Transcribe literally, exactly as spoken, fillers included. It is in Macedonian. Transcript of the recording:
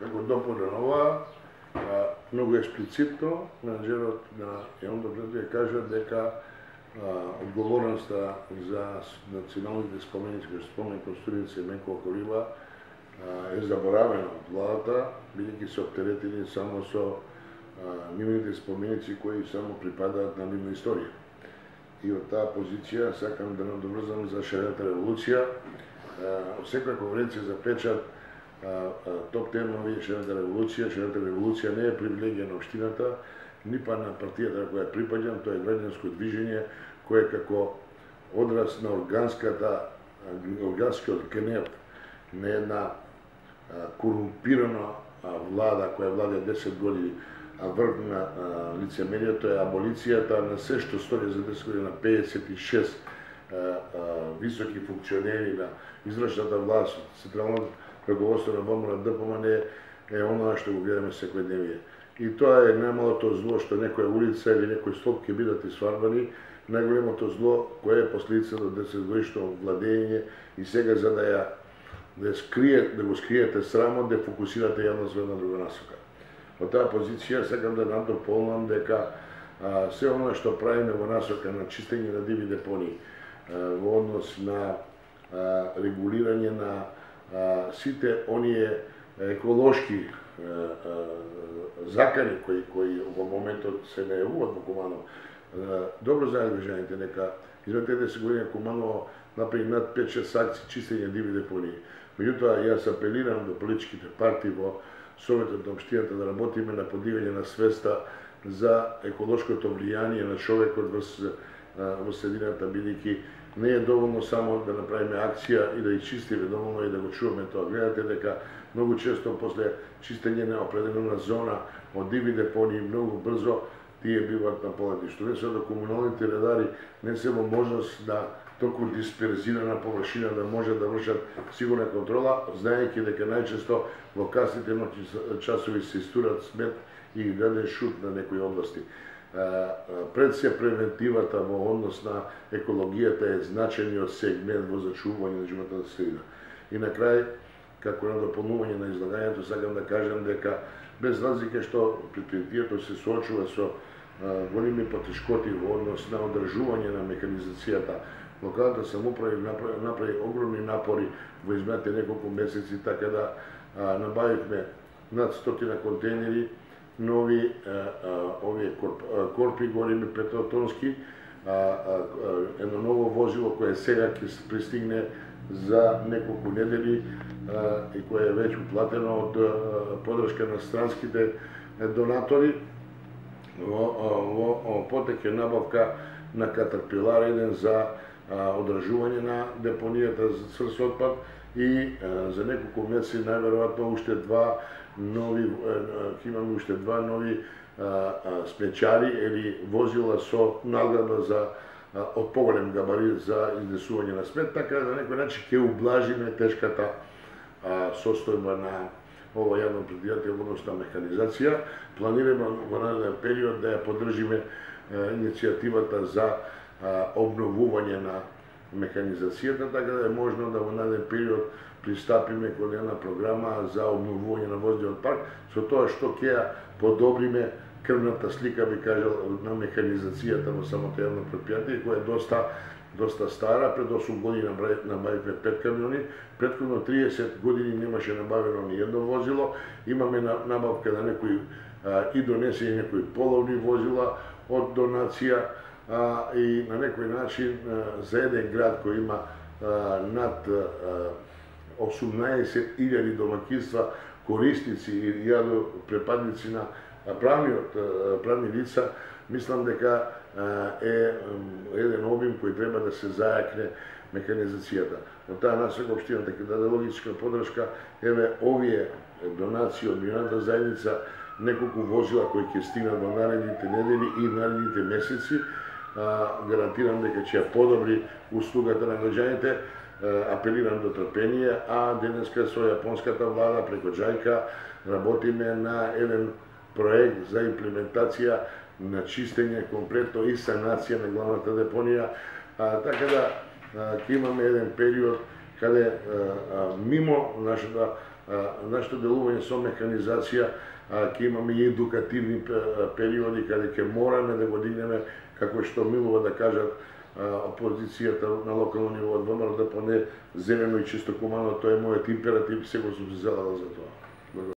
како дополнен ова, многу експлицитно менаџерот на јавното предпријатие кажа дека одговорноста за националните споменици, кои спомен Костурица и Менко Колиба, е заборавена од владата, бидејќи се оптеретени само со нивните споменици кои само припадаат на нивна историја. И од таа позиција сакам да надоврзам за шарената револуција. Секоја конференција за печат топ темови шарената револуција. Шарената револуција не е привилегија на општината, ни па на партијата на која припаѓам, тоа е граѓанско движење кое како одраз на органската органскиот гнев на една корумпирана влада која владе десет години, а врв на лицемерието е аболицијата на се што стори за десет години, на пеесет и шест високи функционери на извршната власт, централното раководство на ВМР ДПМН е оноа што го гледаме секојдневие. И тоа е најмалото зло што некоја улица или некој столб ќе бидат исфарбани, најголемото зло кое е последица до десет годишно владење и сега за да ја да скрие, да го скриете срамот, да фокусирате јавност во една друга насока. Од таа позиција сакам да надополнам дека а, се оно што правиме во насока на чистење на диви депонии, а, во однос на а, регулирање на а, сите оние еколошки а, а, закани кои кои во моментот се најавуваат во Куманово. Добро знаат граѓаните дека изминатите десет години Куманово направи над пет-шест акции чистење диви депонии. Меѓутоа, јас апелирам до политичките партии во Советот на општината да работиме на подигање на свеста за еколошкото влијание на човекот во, во средината, бидејќи не е доволно само да направиме акција и да ги чистиме, доволно и да го чуваме тоа. Гледате дека многу често после чистење на определена зона од диви депонии многу брзо тие биваат наполнети. Што не се да комуналните редари не се во можност да толку дисперзирана површина да може да вршат сигурна контрола, знаејќи дека најчесто во касните ноќни часови се истурат смет и граден шут на некои области. Пред се превентивата во однос на екологијата е значајниот сегмент во зачувување на животната средина. И на крај, како на дополнување на излагањето, сакам да кажам дека без разлика што предпријатието се соочува со големи потешкоти во однос на одржување на механизацијата, локалната самоуправа направи, направи огромни напори во изминатите неколку месеци, така да а, набавивме над стотина контейнери, нови а, а, овие корп, а, корпи големи петотонски, а, а, едно ново возило кое сега ќе пристигне за неколку недели а, и кое е веќе уплатено од а, подршка на странските донатори во, во, во потек е набавка на Катерпилар еден за одржување на депонијата за цврст отпад и а, за неколку месеци најверојатно уште два нови ќе имаме уште два нови а, а, смечари или возила со награда за а, од поголем габарит за изнесување на смет, така да на некој начин ќе ублажиме тешката а, состојба на ова јавно предпријатие во однос на механизација. Планираме во нареден период да ја поддржиме иницијативата за обновување на механизацијата, така да е можно да во нареден период пристапиме кон една програма за обновување на возниот парк, со тоа што ќе ја подобриме крвната слика, би кажал, на механизацијата во самото јавно предпријатие, која е доста доста стара. Пред осум години набавивме пет камиони, претходно триесет години немаше набавено ни едно возило, имаме набавка на некои и донесени некои половни возила од донација, А, и на некој начин а, за еден град кој има а, над осумнаесет илјади домаќинства, корисници и јадо препадници на правниот правни лица, мислам дека а, е еден обим кој треба да се зајакне механизацијата. Од таа насока општината ќе даде логичка поддршка, еве овие донации од меѓународната заедница, неколку возила кои ќе стигнат во наредните недели и наредните месеци. Гарантирам дека ќе ја подобри услугата на граѓаните, апелирам до трпение, а денеска со јапонската влада преку џајка работиме на еден проект за имплементација на чистење комплетно и санација на главната депонија, така да ќе имаме еден период каде мимо нашата нашето делување со механизација ќе имаме и едукативни периоди каде ќе мораме да го дигнеме, како што милува да кажат опозицијата на локално ниво од ВМРО, да поне зелено и чисто кумано, тоа е мојот императив и сега сум се залагал за тоа.